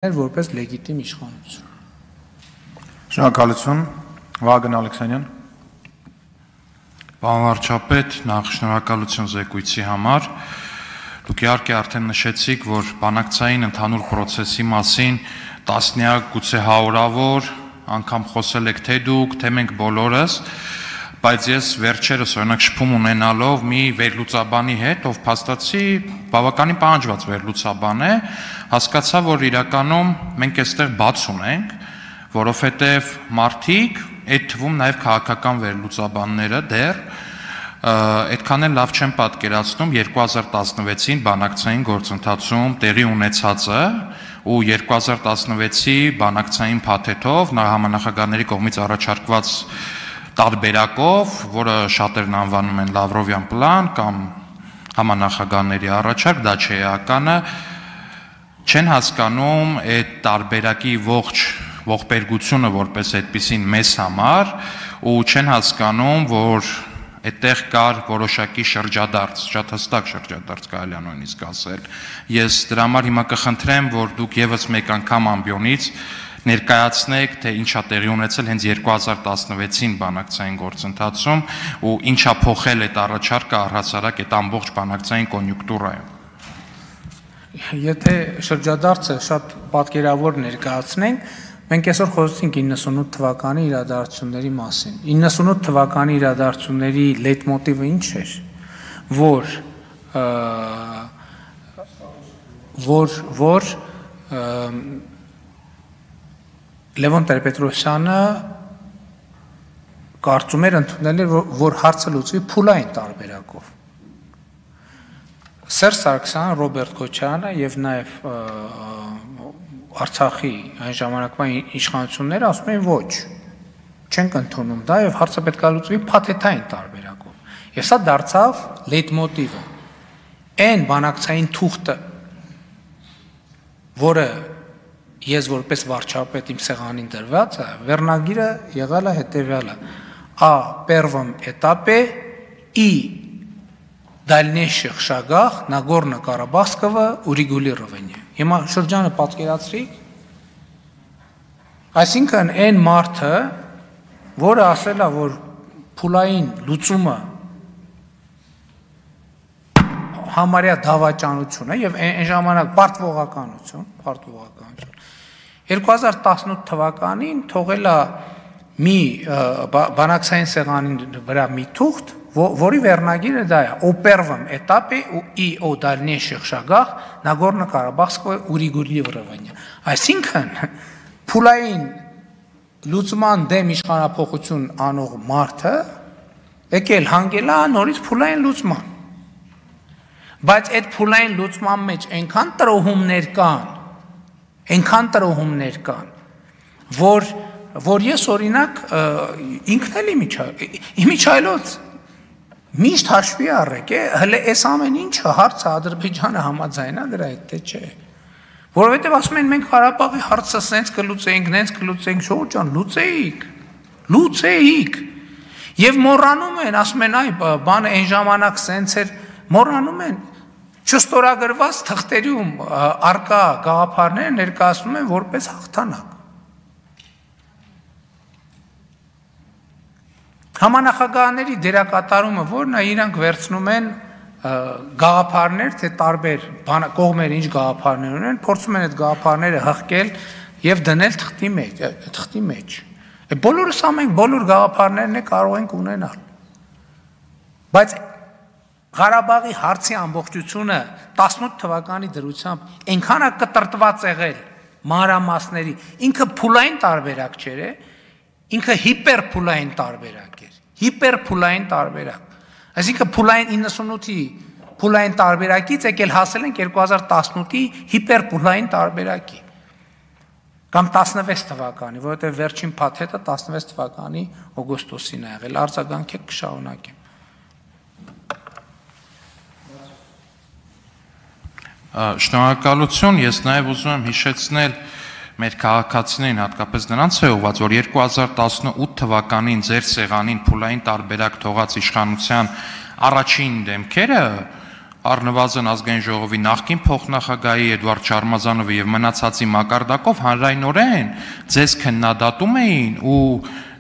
որպես լեգիտիմ իշխանություն։ Շնորհակալություն, Վագն Ալեքսանյան։ Պարոն վարչապետ, նախ շնորհակալություն զեկույցի համար։ Դուք իհարկե արդեն նշեցիք, որ բանակցային ընդհանուր process-ի մասին տասնյակ, գուցե հարյուրավոր անգամ խոսել եք թե դուք, թե մենք բոլորս, բայց ես վերջերս օրինակ շփում ունենալով մի վերլուծաբանի հետ, ով փաստացի բավականին պահանջված վերլուծաբան է, հասկացա, որ իրականում մենք այստեղ բաց ունենք, որովհետև մարդիկ, այդ թվում նաև քաղաքական վերլուծաբանները դեռ այդքան էլ լավ չեն պատկերացնում 2016-ին բանակցային գործընթացում տեղի ունեցածը ու 2016-ի բանակցային փաթեթով համանախագահների կողմից առաջարկված տարբերակով, որը շատերն անվանում են Լավրովյան պլան կամ համանախագահների առաջարկ, դա չէ էականը, չեն հասկանում այդ տարբերակի ողբերգությունը որպես այդպիսին մեզ համար ու չեն հասկանում, որ այդտեղ կար որոշակի շրջադարձ, շատ հստակ շրջադարձ կարելի է նույնիսկ ասել։ Ես դրա համար հիմա կխնդրեմ, որ դուք եւս մեկ անգամ ամբիոնից ներկայացնեք, թե ինչա տեղի ունեցել հենց 2016-ին բանակցային գործընթացում ու ինչա փոխել այդ առաջարկը առհասարակ այդ ամբողջ բանակցային կոնյունկտուրայում։ Եթե շրջադարձը շատ պատկերավոր ներկայացնենք, մենք այսօր խոսեցինք 98 թվականի իրադարձությունների մասին։ 98 թվականի իրադարձությունների լեյտմոտիվը ինչ էր, որ Լևոն Տեր-Պետրոսյանը կարծում էր ընդունել, որ հարցը լուծվի փուլային տարբերակով։ Սերժ Սարգսյանը, Ռոբերտ Քոչարյանը եւ նաեւ Արցախի այն ժամանակվա իշխանությունները ասում էին ոչ, չենք ընդունում դա եւ հարցը պետք է լուծվի փաթեթային տարբերակով։ Եվ սա դարձավ լեյտմոտիվը։ Այն բանակցային թուղթը, որը ես որպես վարչապետ իմ սեղանին դրված է, վերնագիրը եղել է հետևյալը. О первом этапе и дальнейших шагах Нагорно-Карабахского урегулирования։ Հիմա շրջանը պատկերացրիք, այսինքն այն մարդը, որը ասել է, որ փուլային լուծումը համարյա դավաճանություն է եւ այն ժամանակ պարտվողականություն 2018 թվականին թողել է մի բանակցային սեղանին վրա մի թուղթ, որի վերնագիրը դա է о первом этапе и о дальнейших шагах Нагорно-Карабахского урегулирования։ Այսինքն փուլային լուծման դեմ իշխանափոխություն անող մարդը եկել հանգել է նորից փուլային լուծման։ Բայց այդ փուլային լուծման մեջ այնքան տրոհումներ կան, որ ես օրինակ ինքն էլ իմիջայլոց միշտ հաշվի առեք, հələ այս ամեն ինչը հարցը Ադրբեջանը համաձայնա դրա հետ թե չէ։ Որովհետև ասում են մենք Ղարաբաղի հարցը սենց կլուծենք, նենց կլուծենք, շոու ջան, լուծեիք։ Եվ մոռանում են, ասում են այ բանը այն ժամանակ սենց էր, մոռանում են չստորագրված թղթերում արկա գաղափարները ներկայացնում են որպես հաղթանակ։ Համանախագահների դերակատարումը որն է, իրանք վերցնում են գաղափարներ, թե տարբեր կողմերը ինչ գաղափարներ ունեն, փորձում են այդ գաղափարները հղկել եւ դնել թղթի մեջ։ Բոլորս ամենք բոլոր գաղափարներն է կարող ենք ունենալ։ Բայց Ղարաբաղի հարցի ամբողջությունը 18 թվականի դրությամբ այնքան է կտրտված եղել մանրամասների, ինքը փուլային տարբերակ չէր, ինքը հիպերփուլային տարբերակ էր, հիպերփուլային տարբերակ։ Այսինքն փուլային 98-ի փուլային տարբերակից եկել հասել ենք 2018-ի հիպերփուլային տարբերակի։ Կամ 16 թվականի, որովհետև վերջին փաթեթը 16 թվականի օգոստոսին է եղել, արձագանքեք կշարունակեմ։ Շնորհակալություն, ես նաև ուզում եմ հիշեցնել մեր քաղաքացիներին, հատկապես նրանց է ուղղված, որ 2018 թվականին ձեր սեղանին փուլային տարբերակ թողած իշխանության առաջին դեմքերը առնվազն ազգային ժողովի նախկին փոխնախագահի Էդվարդ Շարմազանովի եւ մնացածի մակարդակով հանրայնորեն ձեզ քննադատում էին ու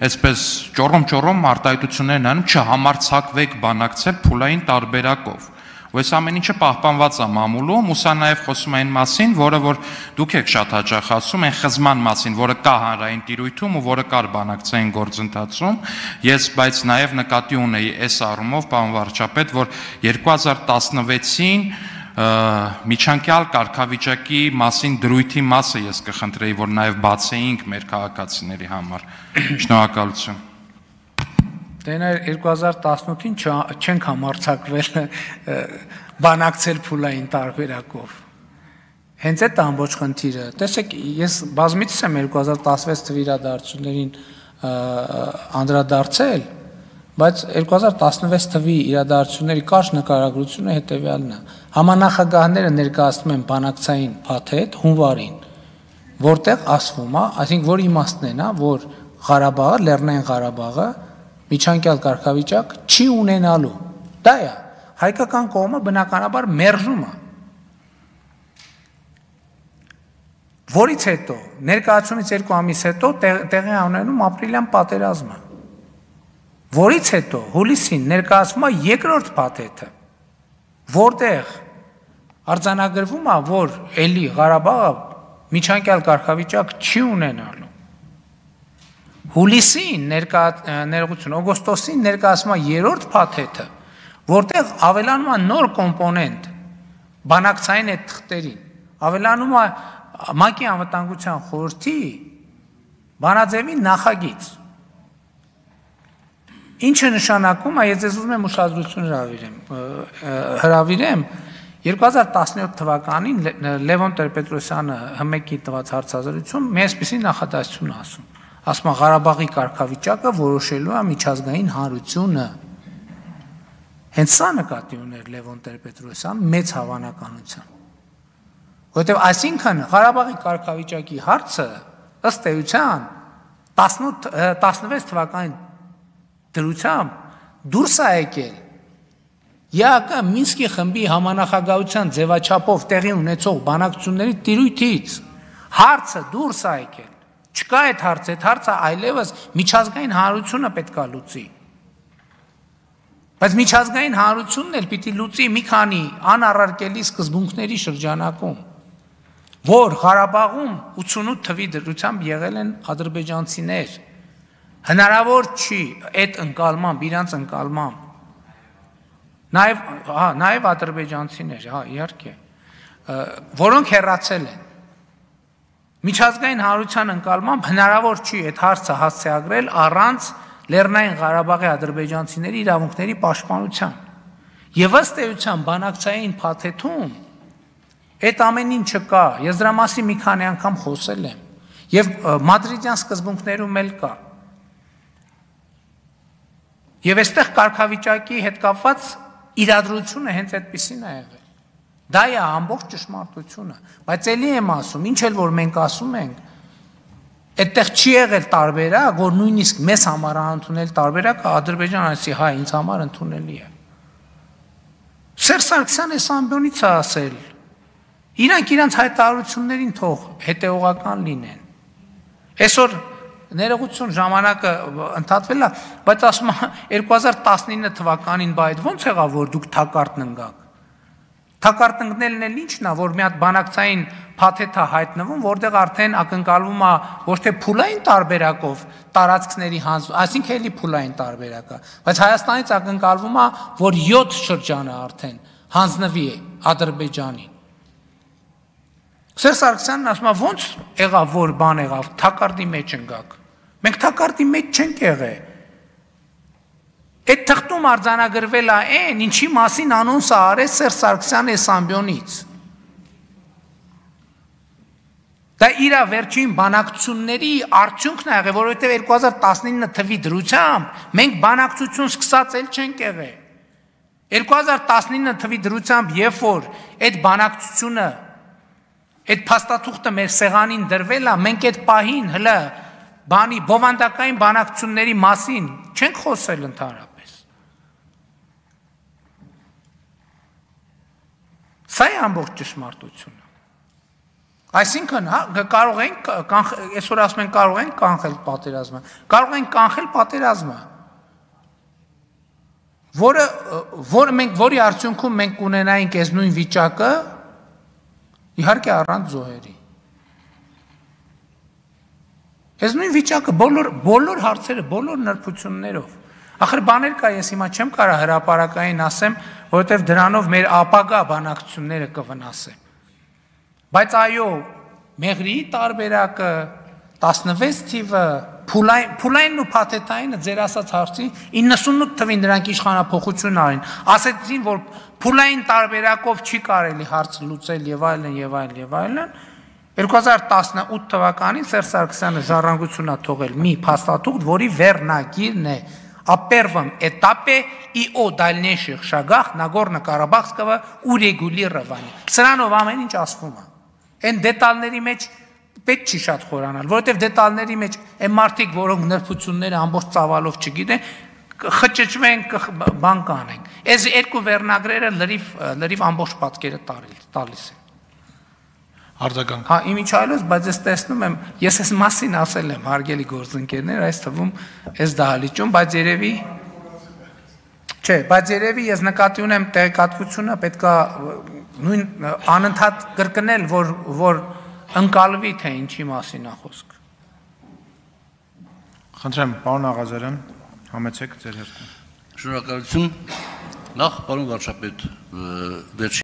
այսպես ճոռոմ արտահայտություններ անում չհամարցակվեք բանակցել փուլային տարբերակով։ Այս ամեն ինչը պահպանված է մամուլում, ու սա նաև խոսում է այն մասին, որը որ դուք եք շատ հաճախ ասում, այն խզման մասին, որը կա հանրային տիրույթում ու որը կար բանակցային գործընթացում, ես բայց նաև նկատի ունեի այս առումով, պարոն վարչապետ, որ 2016-ին միջանկյալ կարգավիճակի մասին դրույթի մասը ես կխնդրեի, որ նաև բացեինք մեր քաղաքացիների համար։ Շնորհակալություն։ Դե 2018-ին չենք համարձակվել բանակցել փուլային տարբերակով։ Հենց այդ ամբողջ խնդիրը։ Տեսեք, ես բազմիցս եմ 2016 թվի իրադարձություններին անդրադարձել, բայց 2016 թվի իրադարձությունների կարճ նկարագրությունը հետևյալն է։ Համանախագահները ներկայացնում են բանակցային փաթեթ հունվարին, որտեղ ասվում է, այսինքն որ իմաստն է, որ Ղարաբաղը, Լեռնային Ղարաբաղը միջանկյալ կարգավիճակ չի ունենալու։ Դա է, հայկական կողմը բնականաբար մերժում է։ Որից հետո, ներկայացումից 2 ամիս հետո տեղի ունենում ապրիլյան պատերազմը։ Որից հետո հուլիսին ներկայացվում է երկրորդ փաթեթը, որտեղ արձանագրվում է, որ էլի Ղարաբաղը միջանկյալ կարգավիճակ չի ունենալու։ Հուլիսին ներողություն, օգոստոսին ներկայացվում է երրորդ փաթեթը, որտեղ ավելանում է նոր կոմպոնենտ բանակցային այդ թղթերին, ավելանում է ՄԱԿ-ի անվտանգության խորհրդի բանաձևի նախագիծ։ Ինչը նշանակում է, ես ուզում եմ ուշադրություն հրավիրեմ, 2017 թվականին Լևոն Տեր-Պետրոսյանը ՀՄԷԿ-ի տված հարցազրույցում մի այսպիսի նախադասություն ասում։ Ասում է Ղարաբաղի կարգավիճակը որոշելու է միջազգային հանրությունը։ Հենց սա նկատի ուներ Լևոն Տեր-Պետրոսյանը մեծ հավանականությամբ։ Որտեղ այսինքն Ղարաբաղի կարգավիճակի հարցը ըստ էության 16 թվականի դրությամբ դուրս է եկել ԵԱԿ Մինսկի խմբի համանախագահության ձևաչափով տեղի ունեցող բանակցությունների տիրույթից հարցը դուրս է եկել։ Չկա այդ հարցը այլևս միջազգային հանրությունը պետք է լուծի։ Բայց միջազգային հանրությունն էլ պիտի լուծի մի քանի անառարկելի սկզբունքների շրջանակում, որ Ղարաբաղում 88 թվի դրությամբ եղել են ադրբեջանցիներ։ Հնարավոր չի այդ ընկալմամբ, իրանց ընկալմամբ, նաև ադրբեջանցիներ, իհարկե, որոնք հեռացել են։ Միջազգային հանրության ընկալմամբ հնարավոր չի այդ հարցը հասցեագրել առանց Լեռնային Ղարաբաղի ադրբեջանցիների իրավունքների պաշտպանության։ Եվ ըստ էության բանակցային փաթեթում այդ ամեն ինչը կա, ես դրա մասին մի քանի անգամ խոսել եմ, եւ մադրիդյան սկզբունքներում էլ կա։ Եվ այստեղ կարգավիճակի հետ կապված իրադրությունը հենց այդպեսին է եղել։ Դա է ամբողջ ճշմարտությունը, բայց ելի եմ ասում, ինչ էլ որ մենք ասում ենք, այդտեղ չի եղել տարբերակ, որ նույնիսկ մեզ համար ընդունել տարբերակը Ադրբեջանը ասի, հա, ինձ համար ընդունելի է։ Սերժ Սարգսյանը այս ամբյոնից է ասել, իրանք իրանց հայտարարություններին թող հետևողական լինեն։ Այսօր ներողություն ժամանակը ընդհատվել է, բայց ասում եմ 2019 թվականին բա այդ ո՞նց եղավ, որ դուք թակարդն ընկաք։ Թակարդ ընկնելն էլ ինչն է, որ մի հատ բանակցային փաթեթ է հայտնվում, որտեղ արդեն ակնկալվում է ոչ թե փուլային տարբերակով տարածքների այսինքն էլի փուլային տարբերակ է, բայց Հայաստանից ակնկալվում է, որ 7 շրջանը արդեն հանձնվի Ադրբեջանին։ Սերժ Սարգսյանն ասում է, ո՞նց եղավ, որ բան եղավ, թակարդի մեջ ընկաք։ Մենք թակարդի մեջ չենք եղել։ Այդ թղթում արձանագրվել է այն, ինչի մասին անոնս է արել Սերժ Սարգսյանը այս ամբյոնից։ Դա իր վերջին բանակցությունների արդյունքն է եղել, որովհետև 2019 թվի դրությամբ մենք բանակցություն սկսած էլ չենք եղել։ 2019 թվի դրությամբ, երբ որ այդ բանակցությունը, այդ փաստաթուղթը մեր սեղանին դրվել է, մենք այդ պահին հլը բանի բովանդակային բանակցությունների մասին չենք խոսել ընդհանրապես։ Սա է ամբողջ ճշմարտությունը։ Այսինքն, կարող ենք այսօր ասում են կարող ենք կանխել պատերազմը, կարող ենք կանխել պատերազմը, որի արդյունքում մենք կունենայինք այս նույն վիճակը, իհարկե առանց զոհերի։ Այս նույն վիճակը բոլոր հարցերը, բոլոր նրբություններով։ Ախր բաներ կա, ես հիմա չեմ կարող հրապարակային ասեմ, որովհետև դրանով մեր ապագա բանակցությունները կվնասեն։ Բայց այո, մեղրիի տարբերակը, 16 թիվը, փուլայնն ու փաթեթայինը ձեր ասած հարցի 98 թվին նրանք իշխանափոխություն արին, ասեցին, որ փուլային տարբերակով չի կարելի հարց լուծել եւ այլն եւ այլն եւ այլն։ 2018 թվականին Սերժ Սարգսյանը ժառանգություն է թողել մի փաստաթուղթ, որի վերնագիրն է «О первом этапе и о дальнейших шагах Нагорно-Карабахского урегулирования». Սրանով ամեն ինչ ասվում է։ Այն դետալների մեջ պետք չի շատ խորանալ, որովհետև դետալների մեջ այն մարդիկ, որոնք նրբությունները ամբողջ ծավալով չգիտեն, խճճվեն, բան կանենք։ Այս երկու վերնագրերը լրիվ ամբողջ պատկերը տալիս են։ Արձագանք։ Հա, իմիջայլոց, բայց ես տեսնում եմ, ես այս մասին ասել եմ, հարգելի գործընկերներ, այս թվում այս դահլիճում, բայց երևի չէ, բայց երևի ես նկատի ունեմ տեղեկատվությունը պետքա նույն անընդհատ կրկնել, որ ընկալվի թե ինչի մասին է խոսքը։ Խնդրեմ, պարոն Աղազարյան, համեցեք ձեր հերթին։ Շնորհակալություն։ Նախ, պարոն վարչապետ, վերջին